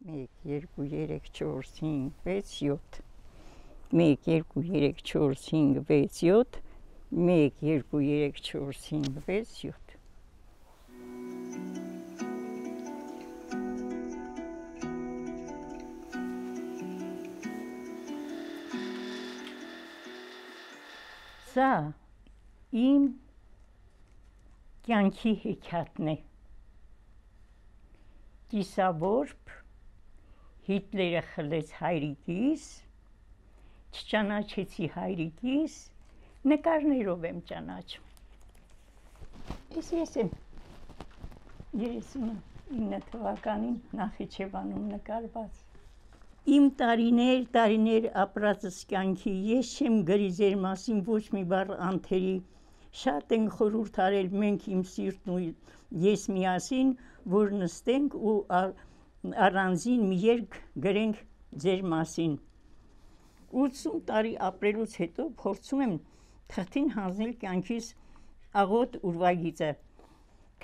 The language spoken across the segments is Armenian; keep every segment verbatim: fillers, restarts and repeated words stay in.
մեկ, երկու, երեք, չորս, հինգ, վեց, յոթ մեկ, երկու, երեք, չորս, հինգ, վեց, յոթ մեկ, երկու, երեք, չորս, հինգ, վեց, յոթ Սա իմ կյանքի հեքիաթն է Կիսավորբ Հիտլերը խլեց հայրիկիս, չճանաչեցի հայրիկիս, նկարներով եմ ճանաչում։ Ես ես եմ երեսունինը թվականին Նախիջևանում նկարված։ Իմ տարիներ, տարիներ ապրածս կյանքի, ես չեմ գրի ձեր մասին ոչ մի բառ անթերի, շատ ենք խորհուրդ արել մենք իմ սիրտն ու ես միասին, որ նստենք ու առանձին մի երգ գրենք ձեր մասին։ ութսուն տարի ապրելուց հետո փորձում եմ թղթին հանձնել կյանքիս աղոտ ուրվագիծը։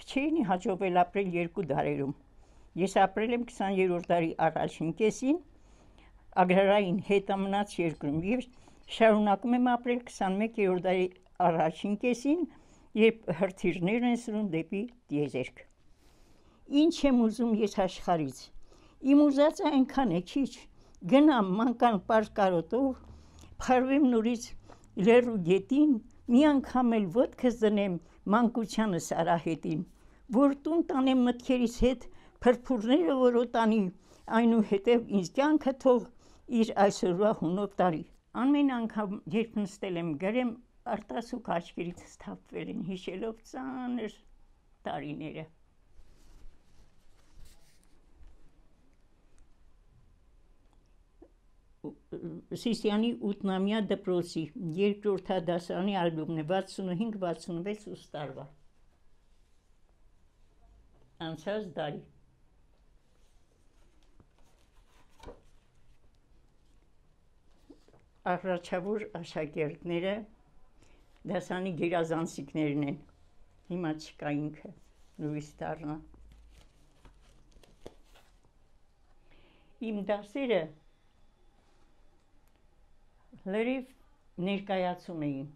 Քչերին հաջողվել ապրել երկու դարերում։ Ես ապրել եմ քսաներորդ դարի առաջին կեսին agrarային հետամնաց երկրում եւ շարունակում եմ ապրել քսանմեկերորդ դարի առաջին կեսին, երբ հրթիռներն են սրում դեպի տիեզերք։ Ինչ եմ ուզում ես աշխարից։ Իմ ուզածը այնքան է քիչ, գնամ մանկան պարկարոտով, փարվեմ նորից լեռու գետին, մի անգամ էլ ոտքս դնեմ մանկությանս արահետին, որ տուն տանեմ մտքերիս հետ փրփուրները որոտանի, այնուհետև ինձ կյանքը թող իր այսօրվա հունով տարի։ Ամեն անգամ երբ նստել եմ գրեմ, արտասուք աչքերիցս թափվել են հիշելով ծանր տարիները։ Սիսիանի ութնամյա դպրոցի երկրորդադասարանի ալբոմն է վաթսունհինգ վաթսունվեց ուստ տարվա անցած դարի Առաջավոր աշակերտները դասանի գերազանցիկներն են, հիմա չկա ինքը, լույս դառնա։ Իմ դասերը լրիվ ներկայացում էին,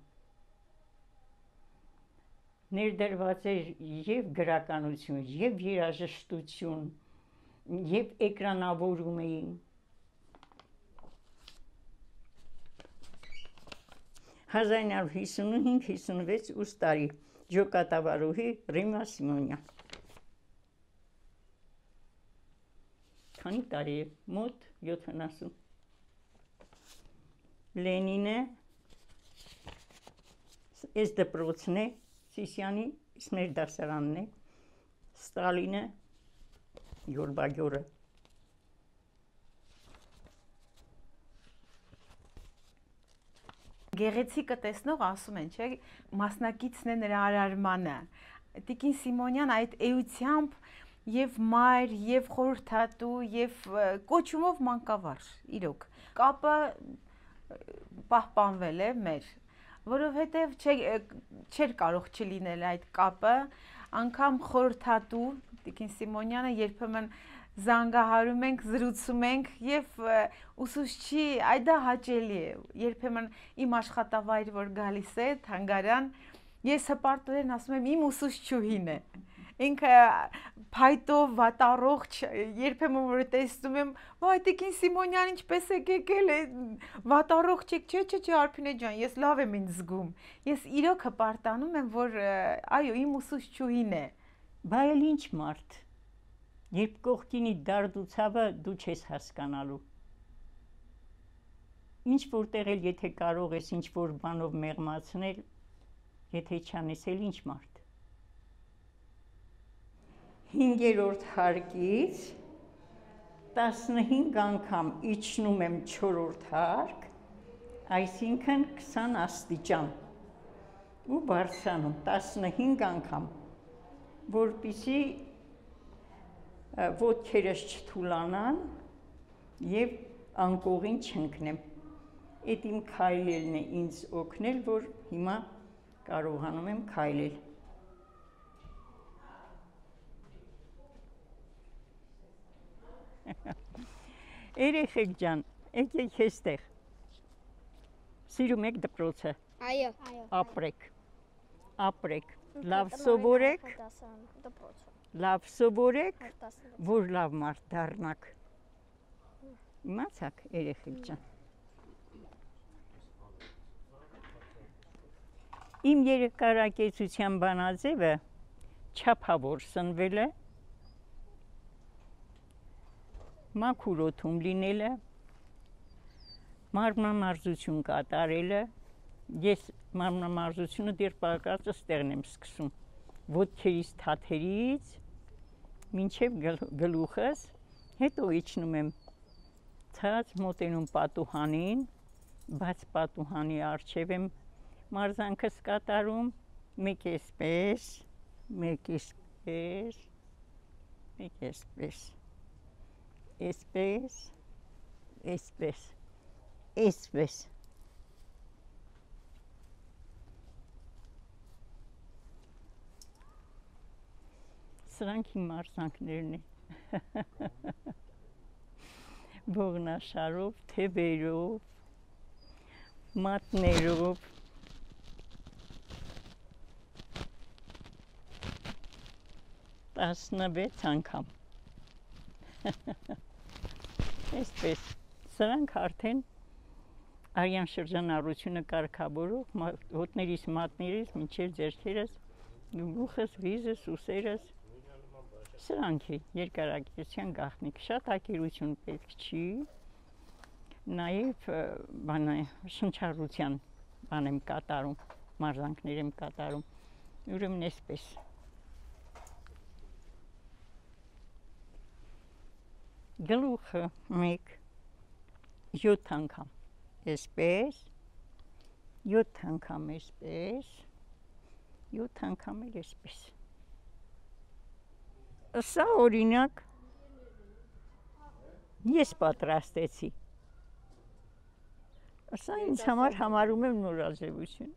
ներդրված էր և գրականություն, և երաժշտություն, և էկրանավորում էին։ հազար ինը հարյուր հիսունհինգ հիսունվեց ուստ տարի ջոկատավարուհի Ռիմա Սիմոնյան։ Քանի տարի է, մոտ յոթանասուն։ Լենինը էս դպրոցն է, Սիսիանի մեր դասարանն է, Ստալինը Գորբագյորը։ Գեղեցիկը տեսնող ասում են, չէ, մասնակիցն է նրա արարմանը։ Տիկին Սիմոնյան այդ էությամբ եւ մայր, եւ խորհրդատու, եւ կոչումով մանկավարժ, իրոք։ Կապը պահպանվել է մեր, որովհետեւ չէր կարող չլինել այդ կապը, անգամ խորհրդատու Տիկին Սիմոնյանը երբեմն զանգահարում ենք, զրուցում ենք եւ ուսուցչի այ դա հաճելի է, երբեմն իմ աշխատավայր որ գալիս է թանգարան, ես հպարտորեն ասում եմ իմ ուսուցչուհին է, ինքը փայտով վատառողջ, երբեմն որ տեսնում եմ, վայ Տիկին Սիմոնյան ինչպես եք եկել, վատառողջ եք, չէ, չէ, չէ, Արփինե ջան, ես լավ եմ ինձ զգում, ես իրոք հպարտանում եմ, որ այո, իմ ուսուցչուհին է։ Բա էլ ինչ մարդ, երբ կողքինի դարդ ու ցավը դու չես հասկանալու։ Ինչ որտեղ էլ եթե կարող ես ինչ որ բանով մեղմացնել, եթե չանես էլ ինչ մարդ։ Հինգերորդ հարկից տասնհինգ անգամ իջնում եմ չորրորդ հարկ, այսինքն քսան աստիճան, ու բարձրանում տասնհինգ անգամ, որպեսզի ոտքերս չթուլանան եւ անկողին չընկնեմ։ Այդ իմ քայլելն է ինձ օգնել, որ հիմա կարողանում եմ քայլել։ Երեխեք ջան, եկեք այստեղ։ Սիրում եք դպրոցը։ Այո։ Ապրեք։ Ապրեք։ Լավ սովորեք։ Լավ սովորեք, որ լավ մարդ դառնաք։ Իմացաք, երեխեք ջան։ Իմ երկարակեցության բանաձևը չափավոր սնվել է, մաքուր օդում լինելը, մարմնամարզություն կատարելը, ես մարմնամարզությունը դեռ պարկածս տեղն եմ սկսում, ոտքերից թաթերից, մինչև գլուխս, հետո իջնում եմ ցած մոտենում պատուհանին, բաց պատուհանի առջև եմ մարզանքս կատարում, մեկ էսպես, մեկ էսպես, մեկ էսպես, էսպես, էսպես, էսպես։ Սրանք իմ մարզանքներն են։ Ողնաշարով, թևերով, մատներով, տասնվեց անգամ։ Այսպես, սրանք արդեն արյան շրջանառությունը կարգավորող, ոտներից, մատներից, մինչև ձեռքերս, գլուխս, վիզս, ուսերս, սրանք է երկարակեցության գաղտնիք, շատ ակերություն պետք չի, նաև բանը շնչառության բան եմ կատարում, մարզանքներ եմ կատարում, ուրեմն այսպես։ Գլուխը մեկ, յոթ անգամ այսպես, յոթ անգամ այսպես, յոթ անգամ էլ այսպես։ Սա օրինակ ես պատրաստեցի։ Սա ինձ համար համարում եմ նորաձևություն։